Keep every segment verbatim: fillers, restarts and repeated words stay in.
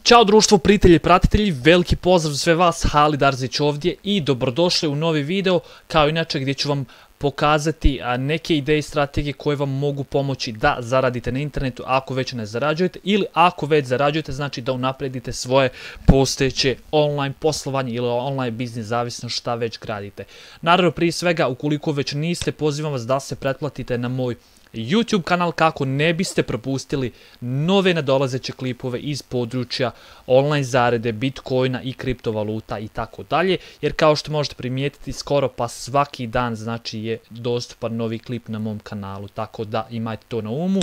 Ćao društvo, prijatelji i pratitelji, veliki pozdrav za sve vas, Halid Arzić ovdje i dobrodošli u novi video, kao inače gdje ću vam pokazati neke ideje i strategije koje vam mogu pomoći da zaradite na internetu ako već ne zarađujete ili ako već zarađujete, znači da unapredite svoje postojeće online poslovanje ili online biznis, zavisno šta već gradite. Naravno, prije svega, ukoliko već niste, pozivam vas da se pretplatite na moj YouTube kanal kako ne biste propustili nove nadolazeće klipove iz područja online zarade, bitcoina i kriptovaluta i tako dalje, jer kao što možete primijetiti skoro pa svaki dan znači je dostupan novi klip na mom kanalu, tako da imajte to na umu.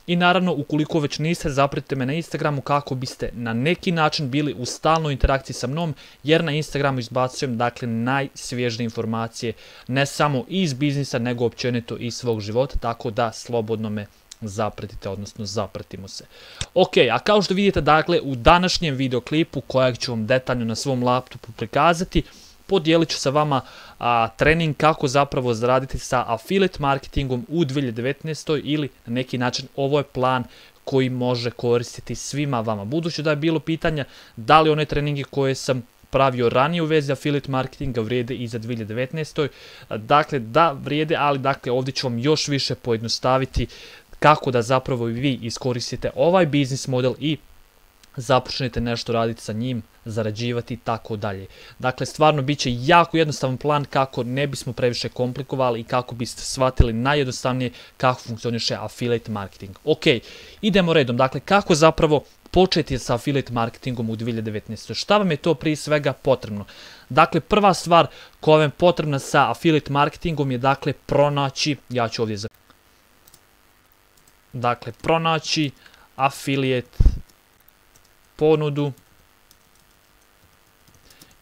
I naravno, ukoliko već niste, zapratite me na Instagramu kako biste na neki način bili u stalnoj interakciji sa mnom, jer na Instagramu izbacujem dakle najsvježije informacije ne samo iz biznisa, nego općenito iz svog života, tako da slobodno me zapratite, odnosno zapratimo se. Ok, a kao što vidite dakle u današnjem videoklipu kojeg ću vam detaljno na svom laptopu prikazati, podijelit ću sa vama a, trening kako zapravo zaraditi sa affiliate marketingom u dvije hiljade devetnaestoj ili na neki način ovo je plan koji može koristiti svima vama. Budući da je bilo pitanja da li one treninge koje sam pravio ranije u vezi affiliate marketinga vrijede i za dvije hiljade devetnaestoj. Dakle, da vrijede, ali dakle ovdje ću vam još više pojednostaviti kako da zapravo vi iskoristite ovaj biznis model i započnete nešto raditi sa njim, zarađivati i tako dalje. Dakle, stvarno bit će jako jednostavan plan kako ne bismo previše komplikovali i kako biste shvatili najjednostavnije kako funkcioniše affiliate marketing. Ok, idemo redom. Dakle, kako zapravo početi sa affiliate marketingom u dvije hiljade devetnaestoj. Šta vam je to prije svega potrebno? Dakle, prva stvar koja vam je potrebna sa affiliate marketingom je dakle pronaći, ja ću ovdje za... Dakle, pronaći affiliate ponudu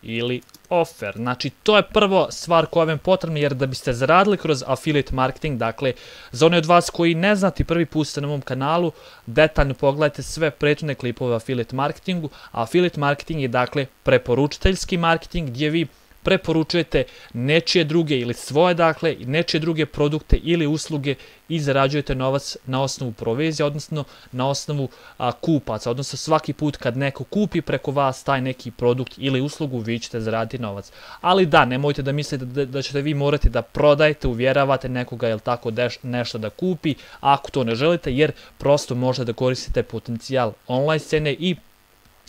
ili offer. Znači, to je prva stvar koja vam je potrebna, jer da biste zaradili kroz affiliate marketing, dakle, za one od vas koji ne znate, prvi put ste na mom kanalu, detaljno pogledajte sve prethodne klipove o affiliate marketingu. A affiliate marketing je, dakle, preporučiteljski marketing gdje vi preporučujete nečije druge ili svoje, dakle, nečije druge produkte ili usluge i zarađujete novac na osnovu provizije, odnosno na osnovu a, kupaca, odnosno svaki put kad neko kupi preko vas taj neki produkt ili uslugu, vi ćete zaraditi novac. Ali da, nemojte da mislite da, da ćete vi morati da prodajete, uvjeravate nekoga ili tako deš, nešto da kupi, ako to ne želite, jer prosto možete da koristite potencijal online scene i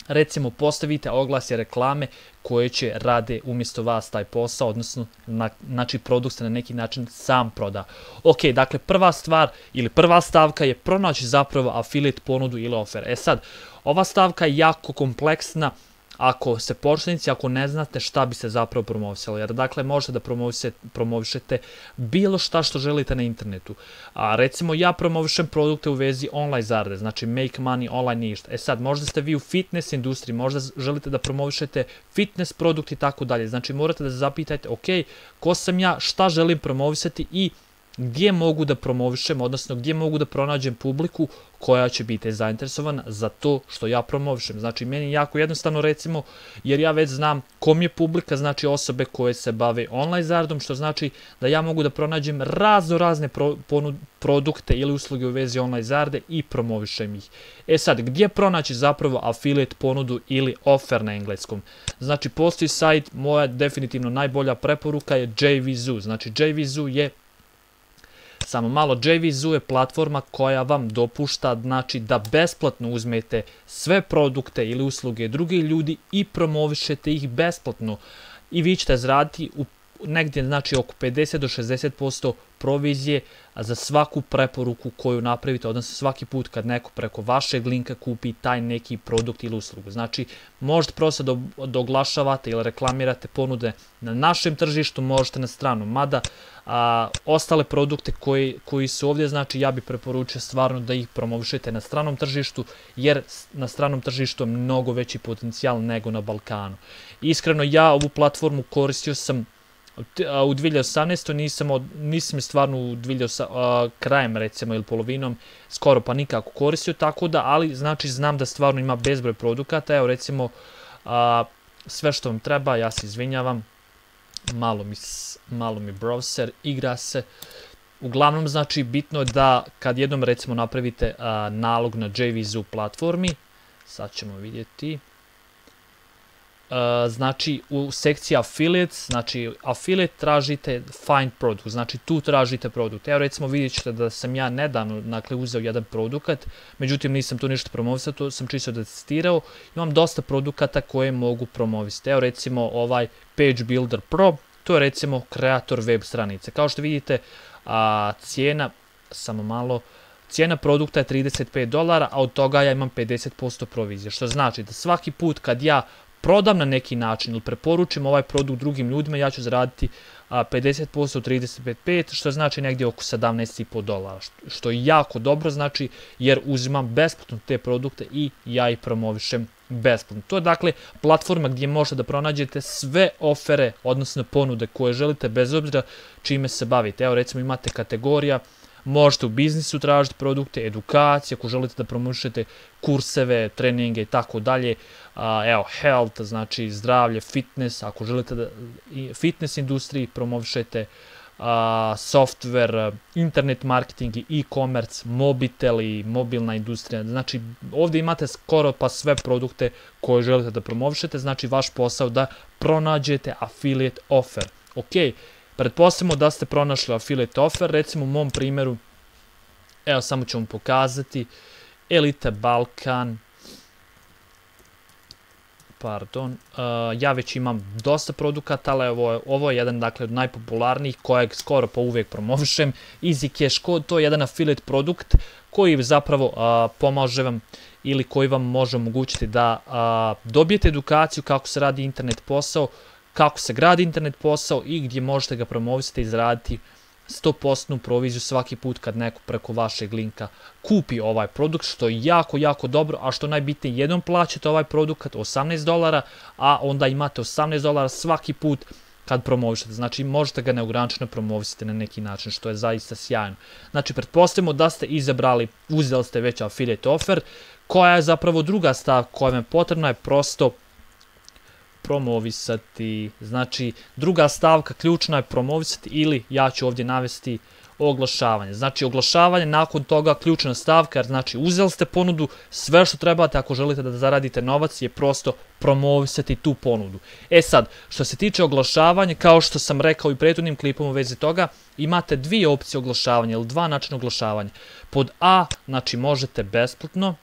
recimo postavite oglasje, reklame koje će rade umjesto vas taj posao, odnosno na, znači produkt se na neki način sam proda. Ok, dakle prva stvar ili prva stavka je pronaći zapravo affiliate ponudu ili offer. E sad, ova stavka je jako kompleksna ako se početnici, ako ne znate šta bi se zapravo promovisalo, jer dakle možete da promovišete bilo šta što želite na internetu. A recimo ja promovišem produkte u vezi online zarade, znači make money online ništa. E sad, možda ste vi u fitness industriji, možda želite da promovišete fitness produkt i tako dalje. Znači morate da se zapitajte, ok, ko sam ja, šta želim promovisati i gdje mogu da promovišem, odnosno gdje mogu da pronađem publiku koja će biti zainteresovana za to što ja promovišem. Znači, meni je jako jednostavno, recimo, jer ja već znam kom je publika, znači osobe koje se bave online zaradom, što znači da ja mogu da pronađem razno razne pro, ponud, produkte ili usluge u vezi online zarade i promovišem ih. E sad, gdje pronaći zapravo affiliate ponudu ili offer na engleskom? Znači, postoji sajt, moja definitivno najbolja preporuka je J V Z U. Znači, J V Z U je Samo malo, J V Z U je platforma koja vam dopušta znači, da besplatno uzmete sve produkte ili usluge drugih ljudi i promovišete ih besplatno. I vi ćete zaraditi u negdje znači, oko pedeset do šezdeset posto provizije za svaku preporuku koju napravite, odnosno svaki put kad neko preko vašeg linka kupi taj neki produkt ili uslugu. Znači, možete prosto da, da oglašavate ili reklamirate ponude na našem tržištu, možete na stranu, mada a, ostale produkte koji, koji su ovdje, znači ja bih preporučio stvarno da ih promovišete na stranom tržištu, jer na stranom tržištu je mnogo veći potencijal nego na Balkanu. Iskreno, ja ovu platformu koristio sam u dvije hiljade osamnaestoj. nisam, od, nisam stvarno u dvije hiljade osamnaestoj, krajem recimo ili polovinom skoro pa nikako koristio, tako da, ali znači znam da stvarno ima bezbroj produkata. Evo recimo a, sve što vam treba, ja se izvinjavam, malo mi, malo mi browser igra se. Uglavnom znači bitno je da kad jednom recimo napravite a, nalog na J V Z U platformi, sad ćemo vidjeti. Uh, znači u sekciji affiliates, znači affiliate tražite find product, znači tu tražite produkt. Evo recimo vidjet ćete da sam ja nedavno dakle, uzeo jedan produkat, međutim nisam tu ništa promovisao, to sam čisto da testirao. Imam dosta produkata koje mogu promovisati. Evo recimo ovaj Page Builder Pro, to je recimo kreator web stranice. Kao što vidite, a, cijena, samo malo, cijena produkta je trideset pet dolara, a od toga ja imam pedeset posto provizije, što znači da svaki put kad ja prodam na neki način ili preporučim ovaj produkt drugim ljudima, ja ću zaraditi a, pedeset posto od trideset pet, što znači negdje oko sedamnaest i po dolara, što, što je jako dobro, znači jer uzimam besplatno te produkte i ja ih promovišem besplatno. To je dakle platforma gdje možete da pronađete sve ofere, odnosno ponude koje želite bez obzira čime se bavite. Evo recimo imate kategorija, možete u biznisu tražiti produkte, edukacije, ako želite da promovišete kurseve, treninge i tako dalje. Evo, health, znači zdravlje, fitness, ako želite da fitness industriji promovišete, software, internet marketing i e-commerce, mobitel i mobilna industrija. Znači, ovdje imate skoro pa sve produkte koje želite da promovišete, znači vaš posao da pronađete affiliate offer. Ok, pretpostavimo da ste pronašli affiliate offer, recimo u mom primjeru, evo samo ću vam pokazati, Elite Balkan, pardon, uh, ja već imam dosta produkata, ali ovo, ovo je jedan dakle, od najpopularnijih kojeg skoro pa uvijek promovišem. Easy Cash Code, to je jedan affiliate produkt koji zapravo uh, pomaže vam ili koji vam može omogućiti da uh, dobijete edukaciju kako se radi internet posao, kako se gradi internet posao i gdje možete ga promovisati i zaraditi sto posto proviziju svaki put kad neko preko vašeg linka kupi ovaj produkt, što je jako, jako dobro, a što najbitnije, jednom plaćate ovaj produkt osamnaest dolara, a onda imate osamnaest dolara svaki put kad promovišete. Znači možete ga neograničeno promovisati na neki način, što je zaista sjajno. Znači pretpostavimo da ste izabrali, uzeli ste već affiliate offer, koja je zapravo druga stavka koja vam je potrebna je prosto promovisati. Znači druga stavka ključna je promovisati ili ja ću ovdje navesti oglašavanje. Znači oglašavanje, nakon toga ključna stavka, jer znači uzeli ste ponudu, sve što trebate ako želite da zaradite novac je prosto promovisati tu ponudu. E sad, što se tiče oglašavanja, kao što sam rekao i prethodnim klipom u vezi toga, imate dvije opcije oglašavanja ili dva načina oglašavanja. Pod A, znači možete besplatno,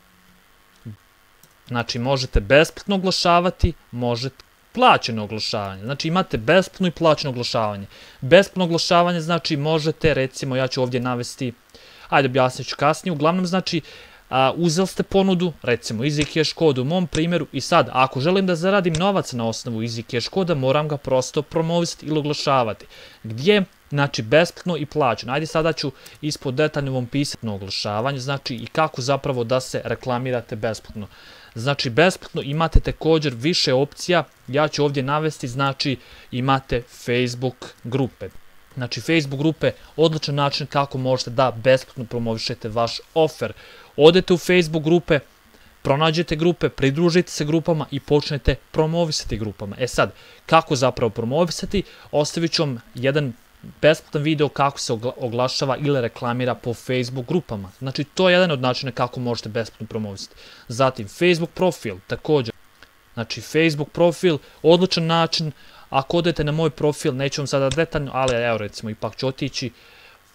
znači možete besplatno oglašavati, možete plaćeno oglašavanje. Znači imate besplatno i plaćeno oglašavanje. Besplatno oglašavanje znači možete, recimo ja ću ovdje navesti, ajde objasnit ću kasnije, uglavnom znači a, uzeli ste ponudu, recimo Easy Cash Code u mom primjeru i sad ako želim da zaradim novac na osnovu Easy Cash Code, moram ga prosto promovisati ili oglašavati. Gdje? Znači besplatno i plaćeno. Ajde sada ću ispod detaljno vam pisati na oglašavanje, znači i kako zapravo da se reklamirate besplatno. Znači besplatno imate također više opcija, ja ću ovdje navesti, znači imate Facebook grupe. Znači Facebook grupe, odličan način kako možete da besplatno promovišete vaš offer. Odete u Facebook grupe, pronađete grupe, pridružite se grupama i počnete promovisati grupama. E sad, kako zapravo promovisati? Ostavit ću vam jedan besplatan video kako se oglašava ili reklamira po Facebook grupama. Znači to je jedan od načina kako možete besplatno promovisati. Zatim Facebook profil također. Znači Facebook profil, odličan način. Ako odete na moj profil, neću vam sada detaljno, ali evo recimo ipak ću otići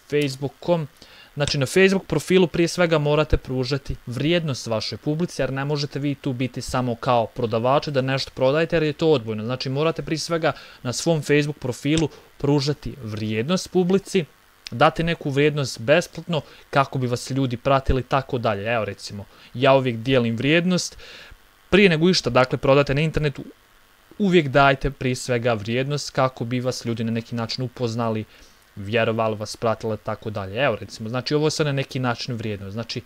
facebook dot com. Znači na Facebook profilu prije svega morate pružati vrijednost vašoj publici, jer ne možete vi tu biti samo kao prodavači da nešto prodajete, jer je to odbojno. Znači morate prije svega na svom Facebook profilu pružati vrijednost publici, dati neku vrijednost besplatno kako bi vas ljudi pratili tako dalje. Evo recimo, ja uvijek dijelim vrijednost, prije nego išta dakle prodate na internetu, uvijek dajte prije svega vrijednost kako bi vas ljudi na neki način upoznali, vjerovali vas, pratili tako dalje. Evo recimo, znači ovo je sve na neki način vrijednost. Znači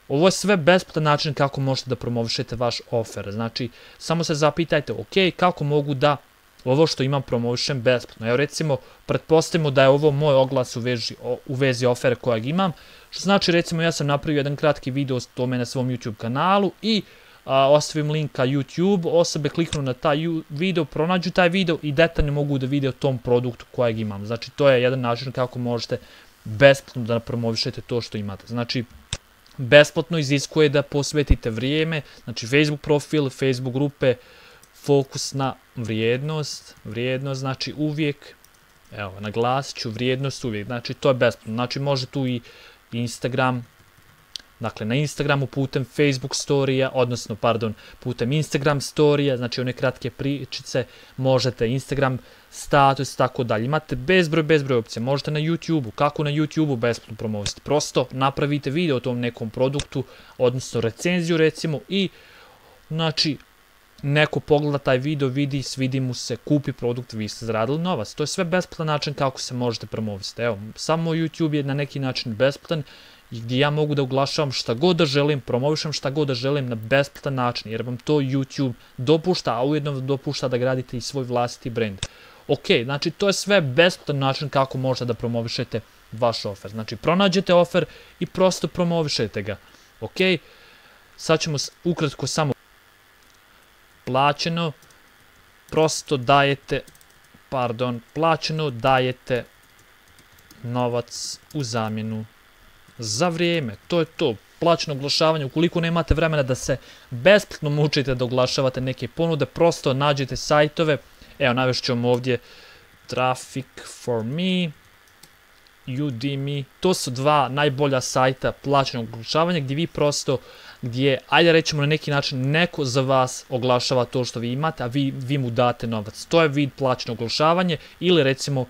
ovo je sve besplatan način kako možete da promovišete vaš offer. Znači samo se zapitajte, ok, kako mogu da ovo što imam promovišem besplatno. Evo recimo, pretpostavimo da je ovo moj oglas u vezi, u vezi ofere kojeg imam, što znači recimo ja sam napravio jedan kratki video o tome na svom YouTube kanalu i a, ostavim link ka YouTube, osobe kliknu na taj video, pronađu taj video i detaljno mogu da vide o tom produktu kojeg imam. Znači to je jedan način kako možete besplatno da promovišete to što imate. Znači besplatno iziskuje da posvetite vrijeme, znači Facebook profil, Facebook grupe, fokus na vrijednost, vrijednost znači uvijek, evo naglasit ću vrijednost uvijek, znači to je besplatno, znači može tu i Instagram, dakle na Instagramu putem Facebook storija, odnosno pardon, putem Instagram storija, znači one kratke pričice, možete Instagram status, tako dalje. Imate bezbroj, bezbroj opcija. Možete na YouTubeu. Kako na YouTubeu besplatno promovisati? Prosto napravite video o tom nekom produktu, odnosno recenziju recimo i znači neko pogleda taj video, vidi, svidi mu se, kupi produkt, vi ste zaradili novac. To je sve besplatan način kako se možete promovisati. Evo, samo YouTube je na neki način besplatan i gdje ja mogu da oglašavam šta god da želim, promovišem šta god da želim na besplatan način, jer vam to YouTube dopušta, a ujedno vam dopušta da gradite i svoj vlastiti brand. Ok, znači to je sve besplatan način kako možete da promovišete vaš ofer. Znači pronađete ofer i prosto promovišete ga. Ok, sad ćemo ukratko samo plaćeno, prosto dajete, pardon, plaćeno dajete novac u zamjenu za vrijeme. To je to, plaćeno oglašavanje. Ukoliko nemate vremena da se besplatno mučite da oglašavate neke ponude, prosto nađete sajtove. Evo, navešću ću vam ovdje Traffic for me, Udemy, to su dva najbolja sajta plaćenog oglašavanja gdje vi prosto, gdje, ajde rećemo na neki način, neko za vas oglašava to što vi imate, a vi, vi mu date novac. To je vid plaćenog oglašavanja ili recimo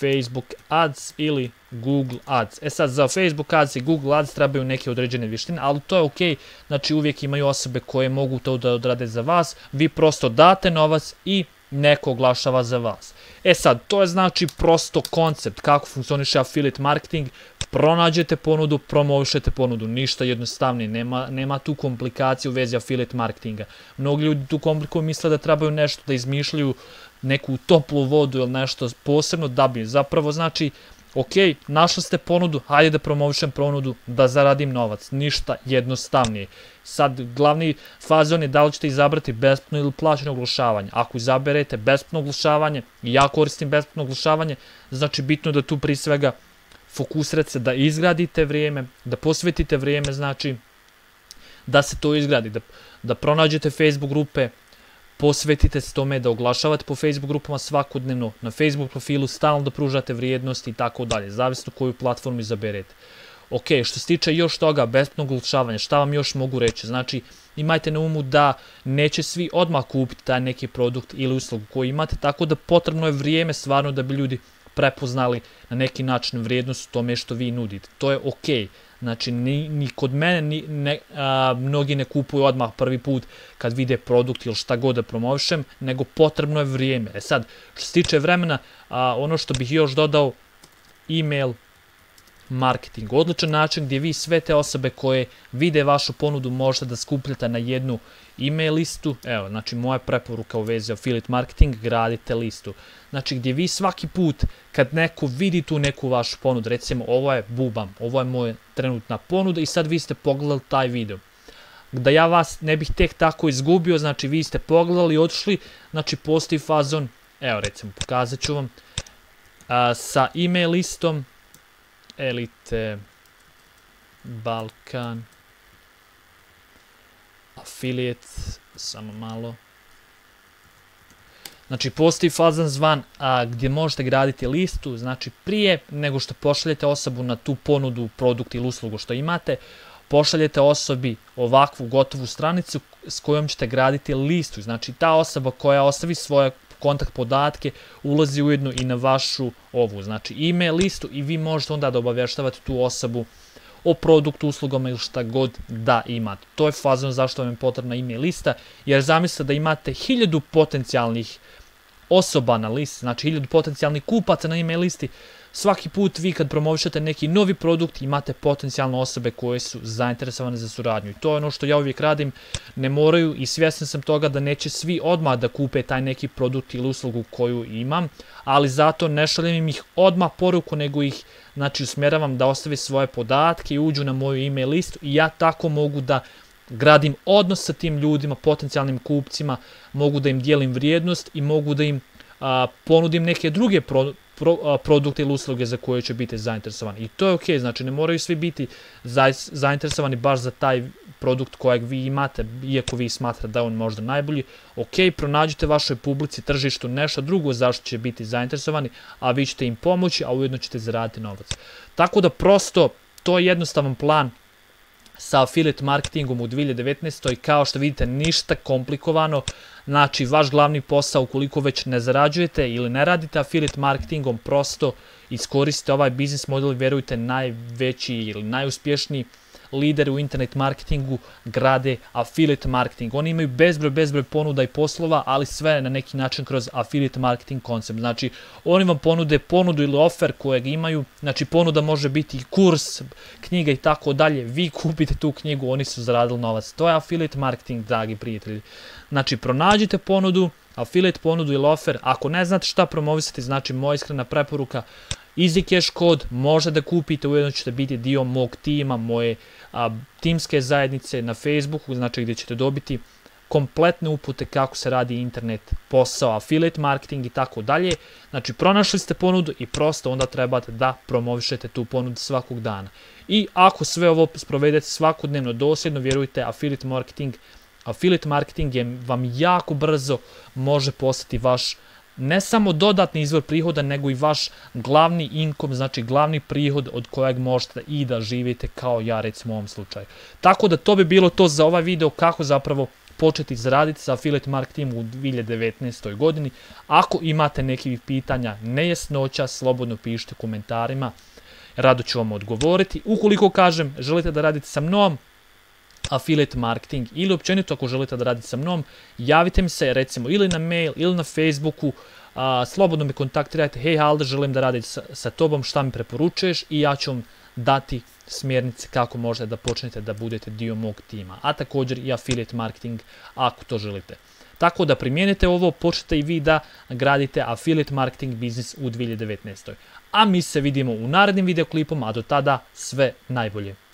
Facebook Ads ili Google Ads. E sad, za Facebook Ads i Google Ads trebaju neke određene vještine, ali to je ok, znači uvijek imaju osobe koje mogu to da odrade za vas, vi prosto date novac i neko oglašava za vas. E sad, to je znači prosto koncept kako funkcioniše affiliate marketing, pronađete ponudu, promovišete ponudu, ništa jednostavnije, nema, nema tu komplikacije u vezi affiliate marketinga. Mnogi ljudi tu komplikuju, misle da trebaju nešto da izmišljaju, neku toplu vodu ili nešto posebno da bi, zapravo znači, ok, našli ste ponudu, hajde da promovišem ponudu, da zaradim novac, ništa jednostavnije. Sad, glavni fazon je da li ćete izabrati besplatno ili plaćeno oglašavanje. Ako izaberete besplatno oglašavanje, i ja koristim besplatno oglašavanje, znači bitno da tu prije svega fokusirate se da izgradite vrijeme, da posvetite vrijeme, znači da se to izgradi, da, da pronađete Facebook grupe, posvetite se tome da oglašavate po Facebook grupama svakodnevno, na Facebook profilu stalno da pružate vrijednosti i tako dalje, zavisno koju platformu izaberete. Ok, što se tiče još toga, besplatno oglašavanje, šta vam još mogu reći? Znači, imajte na umu da neće svi odmah kupiti taj neki produkt ili uslugu koji imate, tako da potrebno je vrijeme stvarno da bi ljudi prepoznali na neki način vrijednost u tome što vi nudite. To je ok. Znači, ni, ni kod mene ni, ne, a, mnogi ne kupuju odmah prvi put kad vide produkt ili šta god da promovišem, nego potrebno je vrijeme. E sad, što se tiče vremena, a, ono što bih još dodao, email marketing. Odličan način gdje vi sve te osobe koje vide vašu ponudu možete da skupljate na jednu email listu. Evo, znači moja preporuka u vezi affiliate marketing, gradite listu. Znači gdje vi svaki put kad neko vidi tu neku vašu ponudu, recimo ovo je bubam, ovo je moja trenutna ponuda i sad vi ste pogledali taj video. Da ja vas ne bih tek tako izgubio, znači vi ste pogledali, otišli, znači postoji fazon, evo recimo pokazat ću vam, a, sa email listom Elite Balkan Affiliate, samo malo. Znači postoji fazan zvan a, gdje možete graditi listu, znači prije nego što pošaljete osobu na tu ponudu, produkt ili uslugu što imate, pošaljete osobi ovakvu gotovu stranicu s kojom ćete graditi listu. Znači ta osoba koja ostavi svoje kontakt podatke ulazi ujedno i na vašu ovu, znači email listu i vi možete onda da obavještavate tu osobu o produktu, uslugama ili šta god da imate. To je fazon zašto vam je potrebna email lista, jer zamislite da imate hiljadu potencijalnih osoba na listi, znači hiljadu potencijalnih kupaca na email listi. Svaki put vi kad promovišete neki novi produkt imate potencijalne osobe koje su zainteresovane za suradnju. I to je ono što ja uvijek radim, ne moraju i svjestan sam toga da neće svi odmah da kupe taj neki produkt ili uslugu koju imam, ali zato ne šaljem im ih odmah poruku, nego ih znači usmjeravam da ostave svoje podatke i uđu na moju email listu i ja tako mogu da gradim odnos sa tim ljudima, potencijalnim kupcima, mogu da im dijelim vrijednost i mogu da im a, ponudim neke druge pro, pro, a, produkte ili usluge za koje će biti zainteresovani. I to je ok, znači ne moraju svi biti za, zainteresovani baš za taj produkt kojeg vi imate, iako vi smatrate da je on možda najbolji. Ok, pronađite vašoj publici, tržištu nešto drugo zašto će biti zainteresovani, a vi ćete im pomoći, a ujedno ćete zaraditi novac. Tako da prosto, to je jednostavan plan sa affiliate marketingom u dvije hiljade devetnaestoj. Kao što vidite, ništa komplikovano. Znači, vaš glavni posao, ukoliko već ne zarađujete ili ne radite affiliate marketingom, prosto iskoristite ovaj biznis model i verujte, najveći ili najuspješniji lideri u internet marketingu grade affiliate marketing. Oni imaju bezbroj, bezbroj ponuda i poslova, ali sve na neki način kroz affiliate marketing koncept. Znači, oni vam ponude ponudu ili offer kojeg imaju, znači ponuda može biti kurs, knjiga i tako dalje. Vi kupite tu knjigu, oni su zaradili novac. To je affiliate marketing, dragi prijatelji. Znači, pronađite ponudu, affiliate ponudu ili offer. Ako ne znate šta promovisati, znači moja iskrena preporuka, EasyCash kod može da kupite, ujedno ćete biti dio mog tima, moje a, timske zajednice na Facebooku, znači gdje ćete dobiti kompletne upute kako se radi internet posao, affiliate marketing i tako dalje. Znači pronašli ste ponudu i prosto onda trebate da promovišete tu ponudu svakog dana. I ako sve ovo sprovedete svakodnevno dosljedno, vjerujte, affiliate marketing, affiliate marketing je vam jako brzo može postati vaš ne samo dodatni izvor prihoda, nego i vaš glavni income, znači glavni prihod od kojeg možete i da živite kao ja, recimo u ovom slučaju. Tako da to bi bilo to za ovaj video, kako zapravo početi zaraditi sa affiliate marketingom u dvije hiljade devetnaestoj godini. Ako imate nekih pitanja, nejasnoća, slobodno pišite u komentarima, rado ću vam odgovoriti. Ukoliko kažem, želite da radite sa mnom affiliate marketing ili općenito ako želite da radite sa mnom, javite mi se recimo ili na mail ili na Facebooku, a, slobodno me kontaktirajte, hej Halder, želim da radim sa, sa tobom, šta mi preporučuješ, i ja ću vam dati smjernice kako možete da počnete da budete dio mog tima, a također i affiliate marketing ako to želite. Tako da primijenite ovo, počnete i vi da gradite affiliate marketing biznis u dvije hiljade devetnaestoj. A mi se vidimo u narednim videoklipom, a do tada sve najbolje.